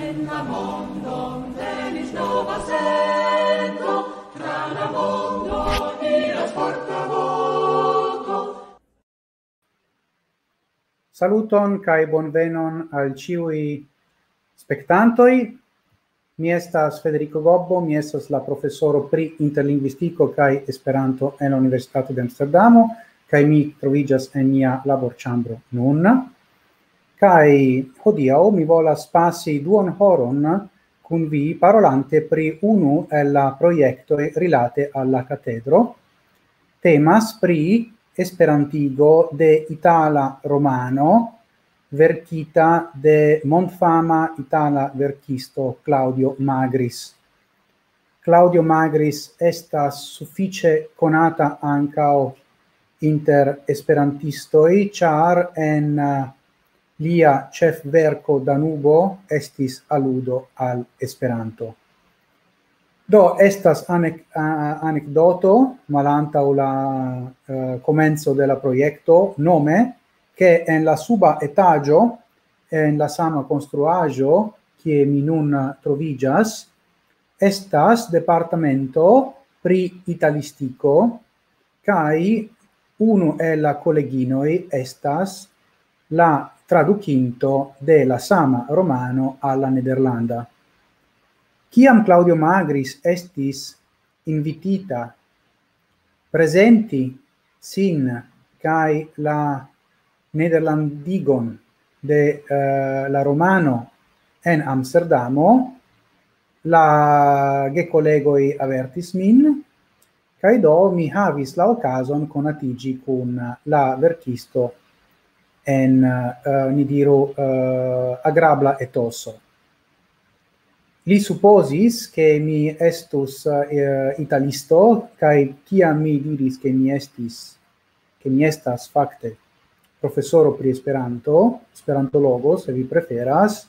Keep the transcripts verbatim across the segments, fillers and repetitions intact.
En la mondon venis nova sento, tra la mondo iras forta voko. Saluton kaj bonvenon al ĉiuj spektantoj. Mi estas Federico Gobbo, mi estas la profesoro pri interlingvistiko kaj Esperanto en la Universitato de Amsterdamo, kaj mi troviĝas en nia laborĉambro nun. Kaj hodiaŭ mi volas pasi duon horon kun vi, parolante pri unu el la projektoj rilate al la katedro. Temas pri esperantigo de itala romano verkita de mondfama itala verkisto Claudio Magris. Claudio Magris estas sufiĉe konata ankaŭ inter esperantistoj, ĉar en, eh, lia ĉefverko Danubo estis aludo al Esperanto. Do, estas anek-, a-, anekdoto malantaŭ la, eh, komenco de la projekto, nome, ke en la suba etaĝo, en la sama konstruaĵo, kie mi nun troviĝas, estas departamento pri italistiko, kaj unu el la koleginoj estas la tradukinto de la sama romano al la nederlanda. Kiam Claudio Magris estis invitita prezenti sin kaj la nederlandigon de, eh, la romano en Amsterdamo, la gekolegoj avertis min, kaj do mi havis la okazon konatiĝi kun la verkisto en, eh, ni diru, eh, agrabla etoso. Li supozis, ke mi estus, eh, italisto, kaj kiam mi diris, ke mi estis, ke mi estas fakte profesoro pri Esperanto, esperantologo, se vi preferas,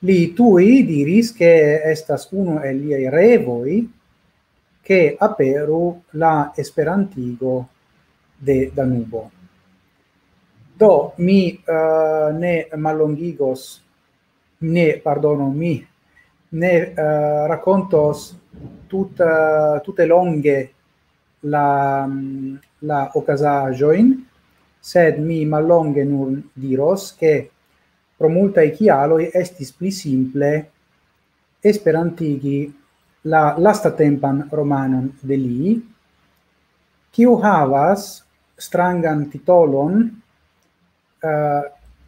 li tuj diris, ke estas unu el liaj revoj, ke aperu la esperantigo de Danubo. Do, mi, eh, ne mallongigos, ne, pardono, mi ne, eh, rakontos tut-, eh, tute longe la, mm, la okazaĵojn, sed mi mallonge nur diros, ke pro multaj kialoj estis pli simple esperantigi la lastatempan romanon de li, kiu havas strangan titolon, eh,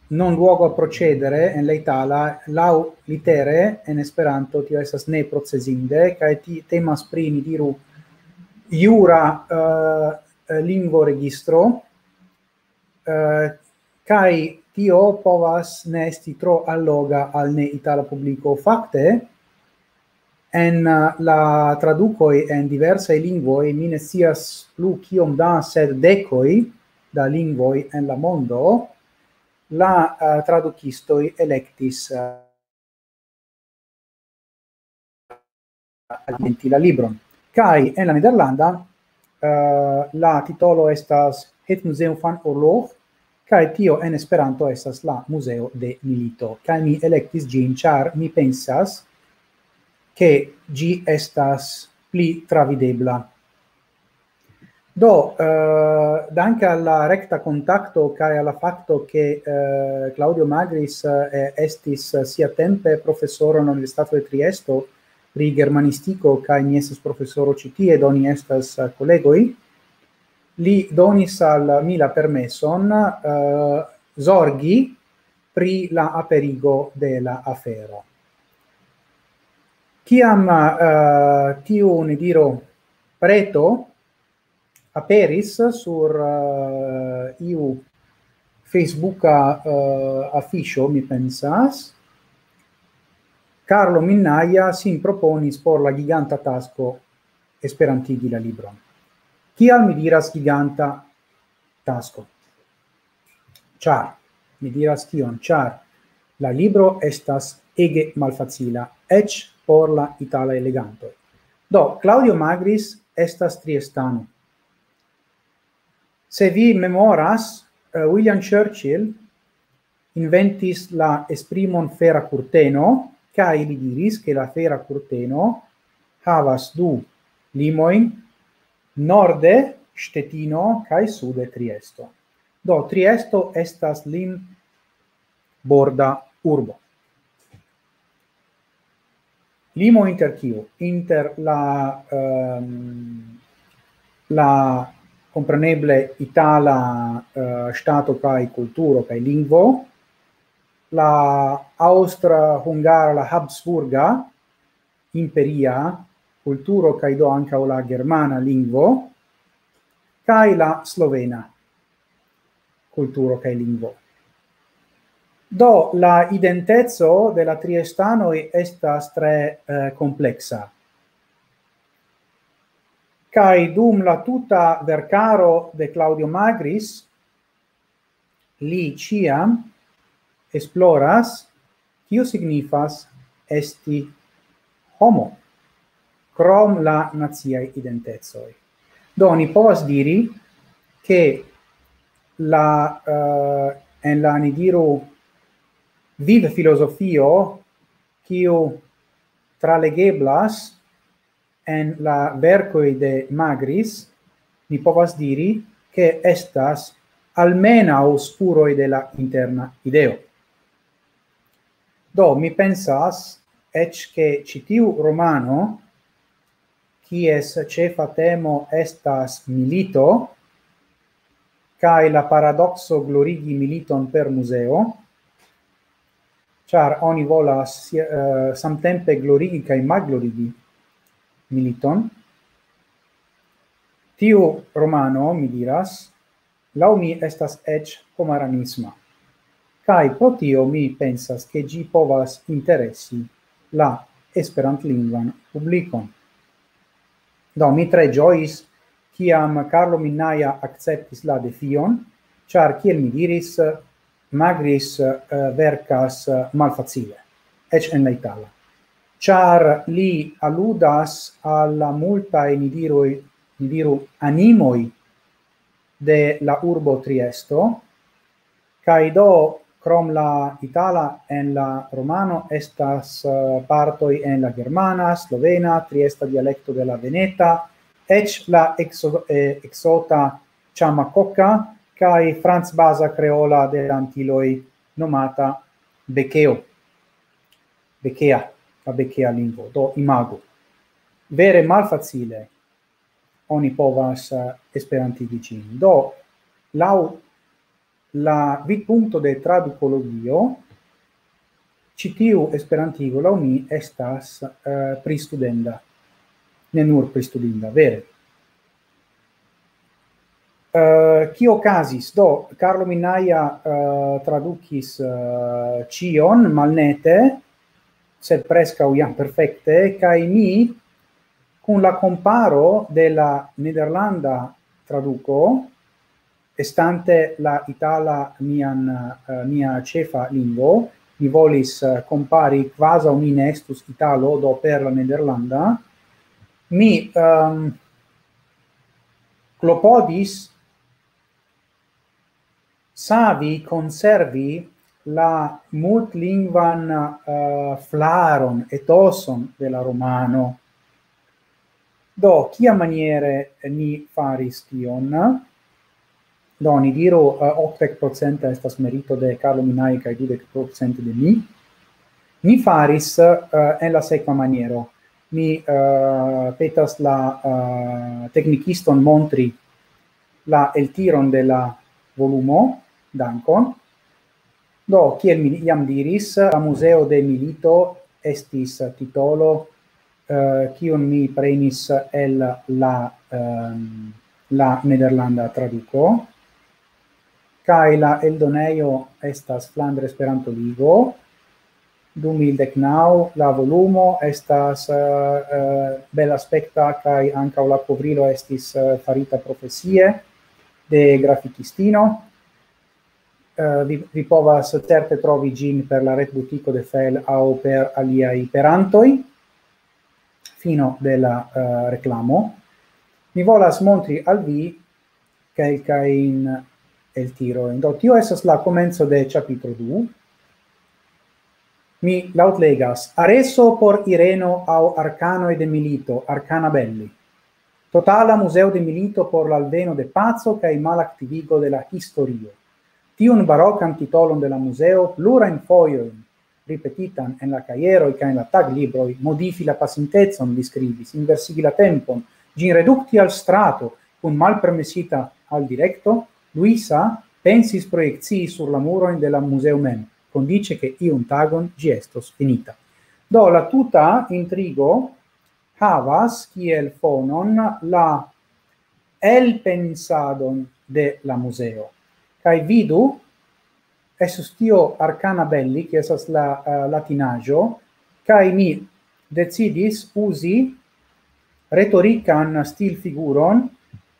"Non luogo a procedere" en la itala, laŭ litere en Esperanto tio estas "ne procesinde", kaj ti-, temas pri, ni diru, jura, eh, lingvoregistro, eh, kaj tio povas ne esti tro alloga al ne itala publiko. Fakte, en, eh, la tradukoj en diversaj lingvoj, mi ne scias plu kiom da, sed dekoj da lingvoj en la mondo, la, eh, tradukistoj elektis, eh, elementi la libron. Kaj en la nederlanda, eh, la titolo estas Het Museum van Oorlog, kaj tio en Esperanto estas la Muzeo de Milito. Kaj mi elektis ĝin, ĉar mi pensas, ke ĝi estas pli travidebla. Do, eh, danke al la rekta kontakto kaj al la fakto, ke, eh, Claudio Magris, eh, estis siatempe profesoro en la Universitato de Triesto pri germanistiko, kaj mi estas profesoro ĉi tie, do ni estas, eh, kolegoj, li donis al mi la permeson, eh, zorgi pri la aperigo de la afero. Kiam, eh, tiu, ni diru, preto aperis sur, eh, iu Facebooka, eh, afiŝo, mi pensas, Carlo Minnaia sin proponis por la giganta tasko esperantigi la libron. Kial mi diras giganta tasko? Ĉar, mi diras kion, ĉar la libro estas ege malfacila, eĉ por la italaj legantoj. Do, Claudio Magris estas triestano. Se vi memoras, eh, William Churchill inventis la esprimon "fera kurteno", Kaj li diris, ke la fera kurteno havas du limojn, norde Ŝtetino kaj sude Triesto. Do, Triesto estas limborda urbo. Limo inter kiu? Inter la, ehm, la, kompreneble, itala, eh, ŝtato kaj kulturo kaj lingvo, la aŭstra, hungara, la habsburga imperia kulturo kaj do ankaŭ la germana lingvo, kaj la slovena kulturo kaj lingvo. Do, la identeco de la triestanoj estas tre, eh, kompleksa. Kaj dum la tuta verkaro de Claudio Magris, li ĉiam esploras, kio signifas esti homo, krom la naciaj identecoj. Do, ni povas diri, ke la, eh, en la, ni diru, vivfilozofio, kiu tralegeblas en la verkoj de Magris, ni povas diri, ke estas almenaŭ spuroj de la interna ideo. Do, mi pensas, eĉ ke ĉi tiu romano, kies ĉefa temo estas milito, kaj la paradokso glorigi militon per muzeo, ĉar oni volas, eh, samtempe glorigi kaj malglorigi militon. Tiu romano, mi diras, laŭ mi estas eĉ homaranisma. Kaj pro tio mi pensas, ke ĝi povas interesi la esperantlingvan publikon. Do, mi tre ĝojis, kiam Carlo Minnaia akceptis la defion, ĉar, kiel mi diris, Magris, eh, verkas, eh, malfacile, eĉ en la itala. Ĉar li aludas al la multaj, ni diru, ni diru, animoj de la urbo Triesto, kaj do, krom la itala, en la romano estas, eh, partoj en la germana, slovena, triesta dialekto de la veneta, eĉ la ekso-, eh, eksota ĉamakoka kaj francbaza kreola de la Antiloj nomata bekeo. Bekea, la bekea lingvo. Do, imagu. Vere malfacile oni povas, eh, esperantigi ĝin. Do, laŭ la vidpunkto de tradukologio, ĉi tiu esperantigo laŭ mi estas, eh, pristudenda. Ne nur pristudinda, vere. Eh, kio okazis? Do, Carlo Minnaia, eh, tradukis, eh, ĉion malnete, sed preskaŭ jam perfekte, kaj mi, kun la komparo de la nederlanda traduko, estante la itala mian, eh, mia ĉefa lingvo, mi volis, eh, kompari kvazaŭ mi ne estus italo, do per la nederlanda, mi, ehm, klopodis savi, konservi la multlingvan, eh, flaron, etoson de la romano. Do, kiamaniere ni faris tion? Do, ni diru, eh, okdek procent estas merito de Carlo Minnaia kaj dudek procent de mi. Ni faris, eh, en la sekva maniero. Mi, eh, petas la, eh, teknikiston montri la eltiron de la volumo. Dankon. Do, kiel mi jam diris, la Muzeo de Milito estis titolo, eh, kiun mi prenis el la, ehm, la nederlanda traduko. Kaj la eldonejo estas Flandra Esperanto-Ligo. Du mil deknaŭ, la volumo estas, eh, eh, belaspekta, kaj ankaŭ la kovrilo estis, eh, farita profesie de grafikistino. Eh, vi, vi povas certe trovi ĝin per la retbutiko de Fel aŭ per aliaj perantoj. Fino de la, eh, reklamo. Mi volas montri al vi kelkajn eltirojn. Do, tio estas la komenco de ĉapitro du. Mi laŭtlegas: Areso por Ireno aŭ Arkanoj de Milito, Arkana Belli. Totala Muzeo de Milito por la alveno de paco kaj malaktivigo de la historio. Tiun barokan titolon de la muzeo plurajn fojojn, ripetitan en la kajeroj kaj en la taglibroj, modifi la pasintecon, li skribis, inversigi la tempon, ĝin redukti al strato kun malpermesita al direkto, Luisa pensis projekcii sur la murojn de la muzeo mem, kondiĉe ke iun tagon ĝi estos finita. Do, la tuta intrigo havas kiel fonon la elpensadon de la muzeo. Kaj vidu, estus tio Arkana Belli, kiu estas la, eh, latinaĵo, kaj mi decidis uzi retorikan stilfiguron,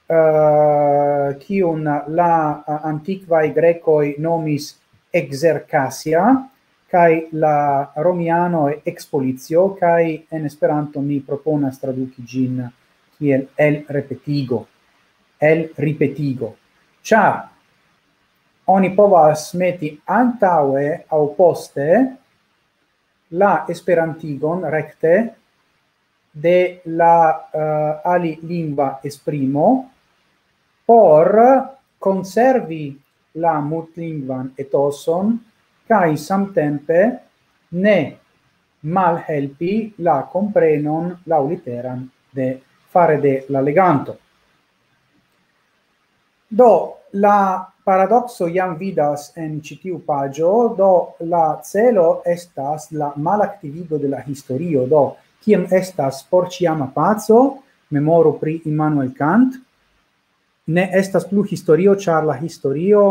eh, kiun la, eh, antikvaj grekoj nomis exercasia, kaj la romianoj expolicio, kaj en Esperanto mi proponas traduki ĝin kiel elrepetigo, elripetigo. Ĉar oni povas meti antaŭe aŭ poste la esperantigon rekte de la, eh, alilingva esprimo por konservi la multlingvan etoson kaj samtempe ne malhelpi la komprenon laŭliteran de, fare de la leganto. Do, la paradokso jam vidas en ĉi tiu paĝo, do la celo estas la malaktivigo de la historio. Do, kiam estas porĉiama paco, memoru pri Immanuel Kant, ne estas plu historio, ĉar la historio,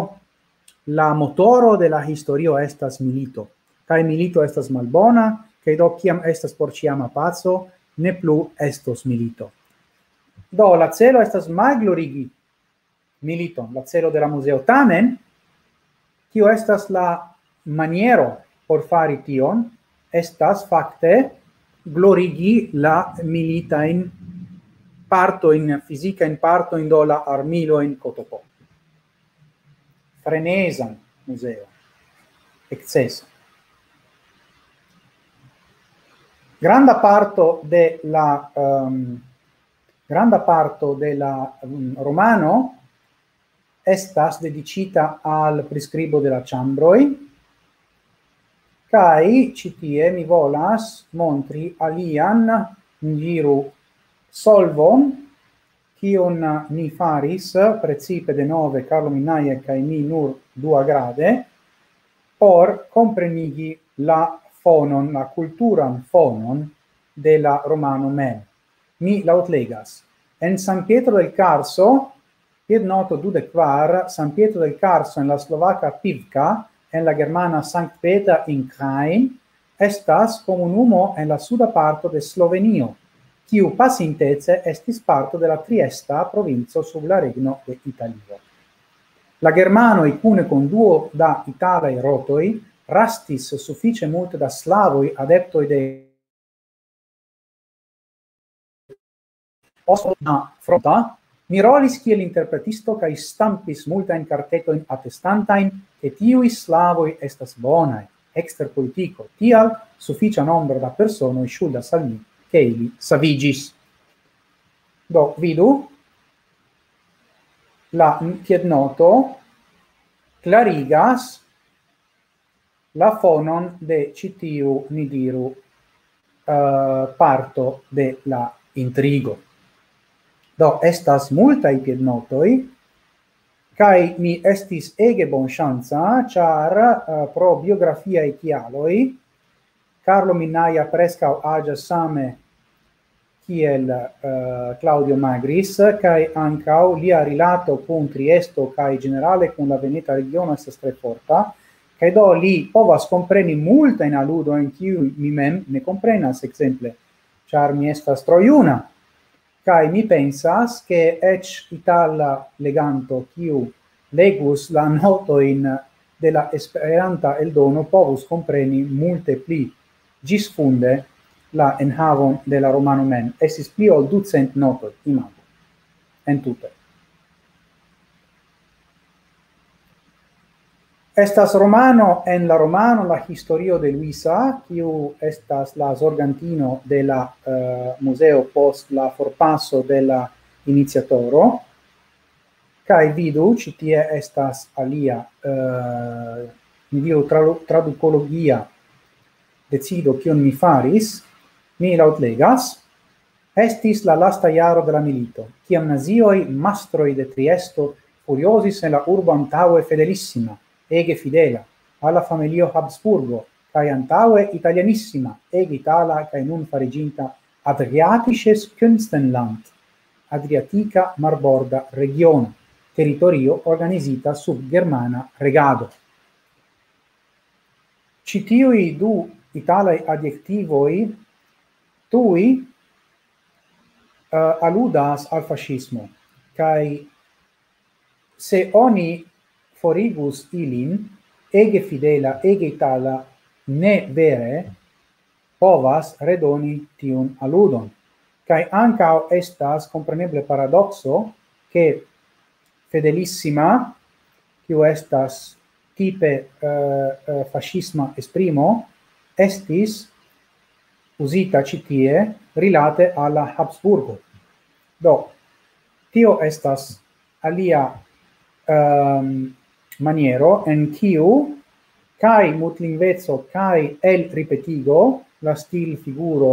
la motoro de la historio estas milito. Kaj milito estas malbona, kaj do kiam estas porĉiama paco, ne plu estos milito. Do, la celo estas malglorigi militon, la celo de la muzeo. Tamen, kio estas la maniero por fari tion, estas fakte glorigi la militajn partojn, fizikajn partojn, do la armilojn, kotopo. Frenezan muzeo, ekscesan. Granda parto de la, ehm, granda parto de la, mm, romano estas dediĉita al priskribo de la ĉambroj, kaj ĉi tie mi volas montri alian, ni diru, solvon, kiun ni faris, precipe denove Carlo Minnaia kaj mi nur duagrade, por komprenigi la fonon, la kulturan fonon de la romano mem. Mi laŭtlegas. En San Pietro del Carso, piednoto dudek kvar, San Pietro del Carso en la slovaka Pivka, en la germana Sankt Peter in Krain, estas komunumo en la suda parto de Slovenio, kiu pasintece estis parto de la Triesta provinco sub la regno de Italio. La germanoj kune kun duo da italaj rotoj rastis sufiĉe multe da slavoj, adeptoj de Oslo na fronta, mi rolis kiel interpretisto kaj stampis multajn kartetojn atestantajn, ke tiuj slavoj estas bonaj, ekster politiko. Tial sufiĉa nombro da personoj ŝuldas al mi, ke ili saviĝis. Do, vidu, la piednoto klarigas la fonon de ĉi tiu, ni diru, eh, parto de la intrigo. Do, estas multaj piednotoj, kaj mi estis ege bonŝanca, ĉar, eh, pro biografiaj kialoj, Carlo Minnaia preskaŭ aĝas same kiel, eh, Claudio Magris, kaj ankaŭ lia rilato kun Triesto kaj ĝenerale kun la veneta regiono estas tre forta, kaj do li povas kompreni multajn aludojn, kiuj mi mem ne komprenas, ekzemple, ĉar mi estas tro juna. Kaj mi pensas, ke eĉ itala leganto, kiu legus la notojn de la Esperanta eldono, povus kompreni multe pli ĝisfunde la enhavon de la romano mem. Estis pli ol ducent notoj, imagu, entute. Estas romano en la romano La Historio de Luisa, kiu estas la zorgantino de la, eh, muzeo post la forpaso de la iniciatoro. Kaj vidu, ĉi tie estas alia, eh, mi diru, tradu-, tradukologia decido, kion mi faris. Mi laŭtlegas. Estis la lasta jaro de la milito, kiam nazioj, mastroj de Triesto, furiozis en la urbo antaŭe Fedelissima, ege fidela, al la familio Habsburgo, kaj antaŭe Italianissima, ege itala, kaj nun fariĝinta Adriatisches Künstenland, Adriatika Marborda Regiono, teritorio organizita sub germana regado. Ĉi tiuj du italaj adjektivoj tuj, eh, aludas al faŝismo, kaj se oni forigus ilin, ege fidela, ege itala, ne vere povas redoni tiun aludon. Kaj ankaŭ estas kompreneble paradokso, ke Fedelissima, kiu estas tipe, eh, eh, faŝisma esprimo, estis uzita ĉi tie rilate al la Habsburgo. Do, tio estas alia, ehm, maniero en kiu kaj mutlingveco kaj elripetigo, la stilfiguro,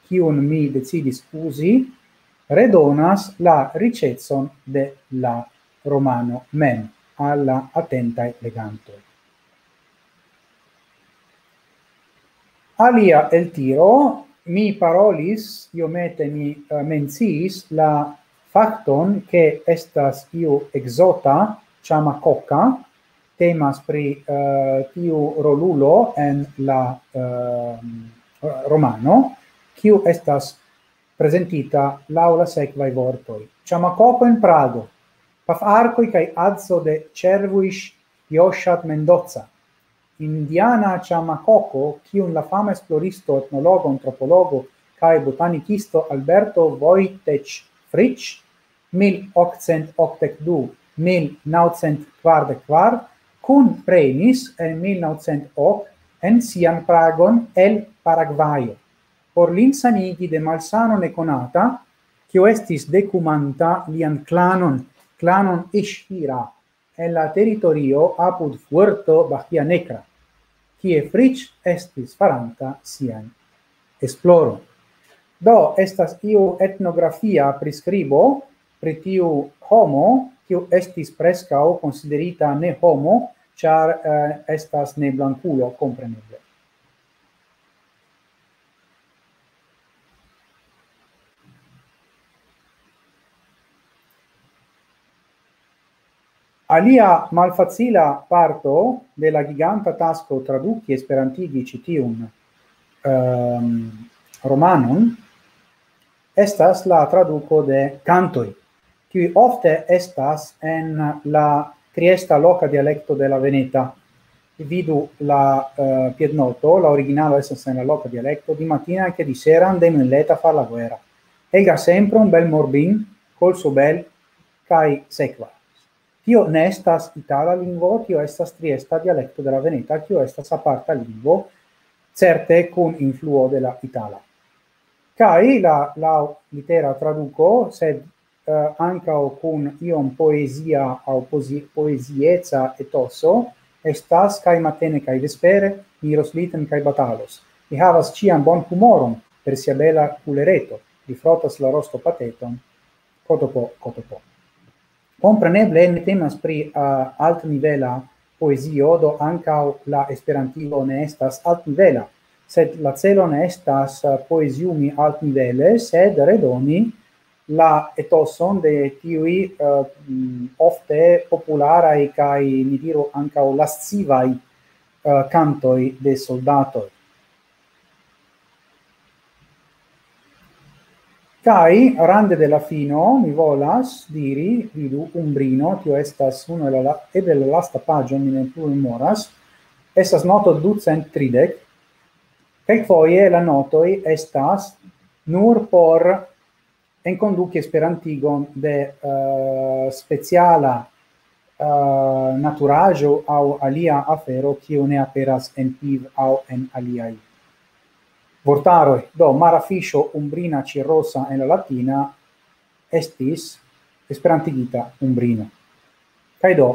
kiun mi decidis uzi, redonas la riĉecon de la romano mem al la atentaj legantoj. Alia eltiro, mi parolis, iomete mi, eh, menciis la fakton, ke estas iu ekzota, Chamacoca, temas pri, eh, tiu rolulo en la, eh, romano, kiu estas prezentita laŭ la sekvaj vortoj. Chamacoco en Prago, pafarkoj kaj adzo de Červuiš Jošat Mendoza. Indiana Chamacoco, kiun la fama esploristo, etnologo, antropologo kaj botanikisto Alberto Vojtech Frič, mil okcent okdek du, mil naŭcent kvardek kvar, kunprenis en mil naŭcent ok en sian Pragon el Paragvajo, por lin sanigi de malsano nekonata, kiu estis dekumanta lian klanon, klanon Ishira, en la teritorio apud Fuerto Bahia Negra, kie Frič estis faranta sian esploron. Do, estas iu etnografia priskribo pri tiu homo, kiu estis preskaŭ konsiderita ne homo, ĉar, eh, estas ne blankulo, kompreneble. Alia malfacila parto de la giganta tasko traduki, esperantigi ĉi tiun, ehm, romanon estas la traduko de kantoj, kiuj ofte estas en la triesta loka dialekto de la veneta. Vidu la, eh, piednoto, la originalo estas en la loka dialekto, di mattina che di sera andemo in letta a far la guerra. Ega sempre un bel morbin, col suo bel, kaj sekva. Tio ne estas itala lingvo, tio estas triesta dialekto de la veneta, kio estas aparta lingvo, certe kun influo de la itala. Kaj la, laŭ litera traduko, sed, eh, ankaŭ kun iom poezia aŭ pozi-, poezieca etoso, estas: "Kaj matene kaj vespere, mi iros liten kaj batalos." Li havas ĉiam bon humoron per sia bela kulereto, li frotas la rosto pateton, kotopo, kotopo. Kompreneble ne temas pri, eh, altnivela poezio, do ankaŭ la esperantigo ne estas altnivela, sed la celo ne estas, eh, poeziumi altnivele, sed redoni la etoson de tiuj, eh, mm, ofte popularaj kaj, mi diru, ankaŭ lascivaj, eh, kantoj de soldatoj. Kaj rande de la fino, mi volas diri, vidu, Umbrino, tio estas unu el la, eble la lasta paĝo, mi ne plu memoras, estas noto ducent tridek, kelkfoje la notoj estas nur por enkonduki esperantigon de, eh, speciala uh, naturaĵo aŭ alia afero, kiu ne aperas en Piv aŭ en aliaj vortaroj. Do, mara fiŝo umbrina ĉirosa en la latina estis esperantigita umbrino. Kaj do,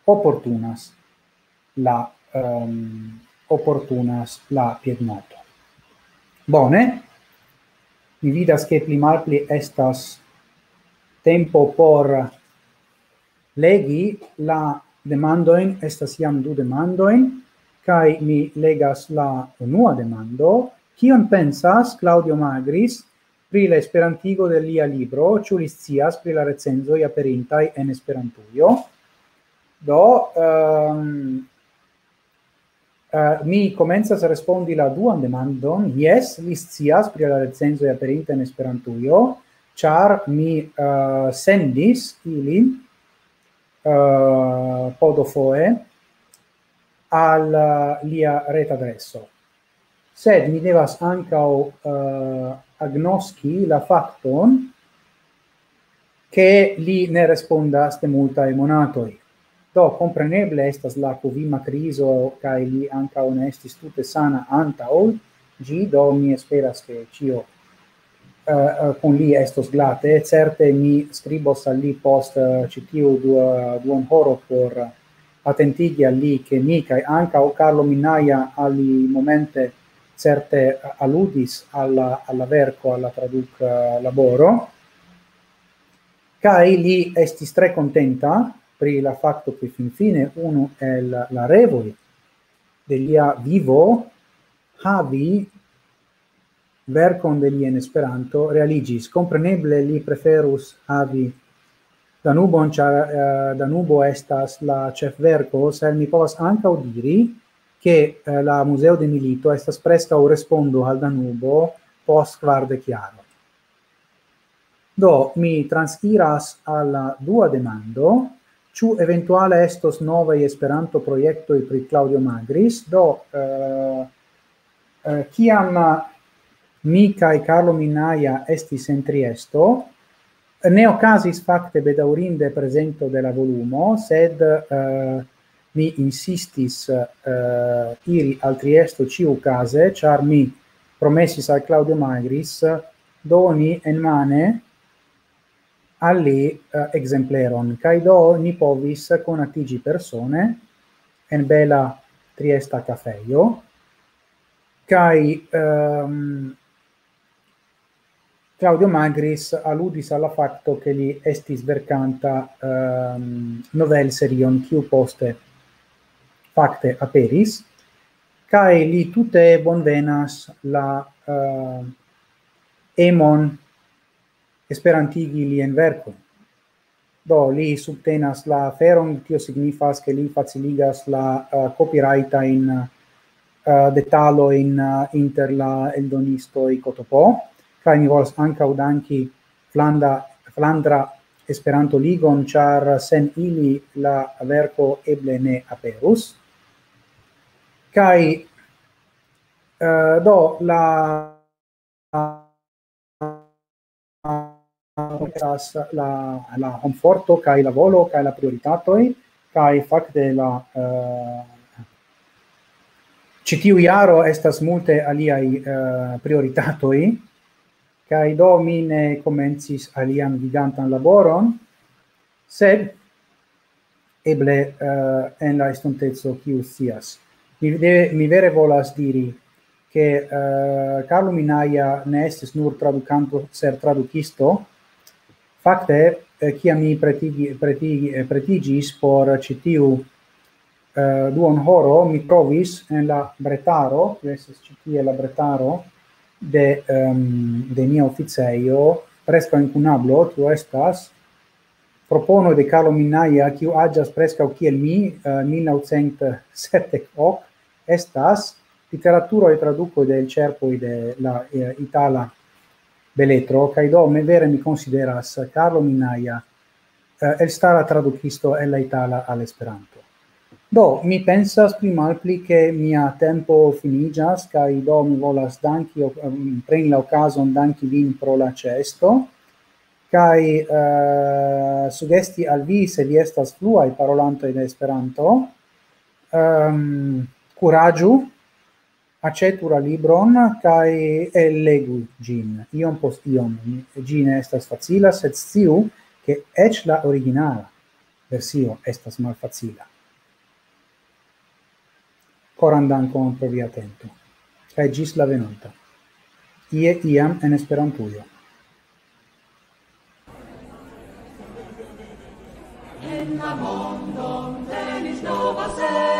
oportunas la, um, oportunas la piednoto. Bone, mi vidas, ke pli malpli estas tempo por legi la demandojn, estas jam du demandojn, kaj mi legas la unua demando. Kion pensas Claudio Magris pri la esperantigo de lia libro, ĉu li scias pri la recenzoj aperintaj en Esperantujo? Do, um, uh, mi komencas respondi la duan demandon. Jes, li scias pri la recenzoj aperintaj en Esperantujo, ĉar mi uh, sendis ilin uh, podofoe al uh, lia retadreso. Sed mi devas ankaŭ uh, agnoski la fakton, ke li ne respondas de multaj monatoj. Do, kompreneble estas la Covid-a krizo, kaj li ankaŭ ne estis tute sana antaŭ ĝi, do mi esperas, ke ĉio uh, kun li estos glate. Certe mi skribos al li post uh, ĉi tiu duon horo por atentigi al li, ke mi kaj ankaŭ Carlo Minaja al li momente certe aludis al la, al la verko, al la traduk-laboro. Kaj li estis tre kontenta pri la fakto, ke finfine unu el la revoj de lia vivo havi verkon de li en Esperanto realiĝis. Kompreneble li preferus havi Danubon, ĉar uh, Danubo estas la ĉefverko, sed mi povas ankaŭ diri, ke uh, la Muzeo de Milito estas preskaŭ respondo al Danubo post kvardek jaroj. Do, mi transiras al la dua demando, ĉu eventuale estos novaj Esperanto-projektoj pri Claudio Magris. Do, uh, uh, kiam mi kaj Carlo Minaja estis en Triesto, ne okazis fakte bedaŭrinde prezento de la volumo, sed uh, mi insistis uh, iri al Triesto ĉiukaze, ĉar mi promesis al Claudio Magris doni en mane al li uh, ekzempleron, kaj do ni povis konatiĝi persone en bela Triesta kafejo, kaj um, Claudio Magris aludis al la fakto, ke li estis verkanta um, novelserion, kiu poste fakte aperis, kaj li tute bonvenas la uh, emon esperantigi lian verkon. Do, li subtenas la aferon, tio signifas, ke li faciligas la uh, copyrightajn uh, detalojn uh, inter la eldonistoj Kotopo, kaj mi volas ankaŭ danki Flanda, Flandra Esperanto-Ligon, ĉar sen ili la verko eble ne aperus. Kaj uh, do, la estas la, la homforto kaj la volo kaj la prioritatoj, kaj fakte la uh, ĉi tiu jaro estas multe aliaj uh, prioritatoj, kaj do mi ne komencis alian gigantan laboron, sed eble uh, en la estonteco, kiu scias. Mi, de, mi vere volas diri, ke uh, Carlo Minaja ne estis nur tradukanto, sed tradukisto. Fakte, uh, kiam mi pretigi, pretigi, eh, pretiĝis por ĉi tiu uh, duon horo, mi trovis en la bretaro, kiu estas ĉi tie la bretaro de, um, de nia oficejo, preskaŭ inkunablo, tio estas propono de Carlo Minaja, kiu aĝas preskaŭ kiel mi, uh, mil naŭcent sepdek ok, estas literaturo e traduko de elĉerpoj de la uh, itala beletro, kaj do mi vere mi konsideras Carlo Minaja uh, elstara tradukisto el la itala al Esperanto. Do, mi pensas pli malpli, ke mia tempo finiĝas, kaj do mi volas danki, um, preni la okazon danki vin pro la ĉeesto. Kaj, eh, sugesti al vi, se vi estas fluaj parolantoj de Esperanto, ehm, kuraĝu, aĉetu la libron kaj ellegu ĝin, iom post iom. Ĝi ne estas facila, sed sciu, ke eĉ la originala versio estas malfacila. Koran dankon pro via atento. Kaj ĝis la venonta. Ie iam en Esperantujo. En la mondon venis nova sento.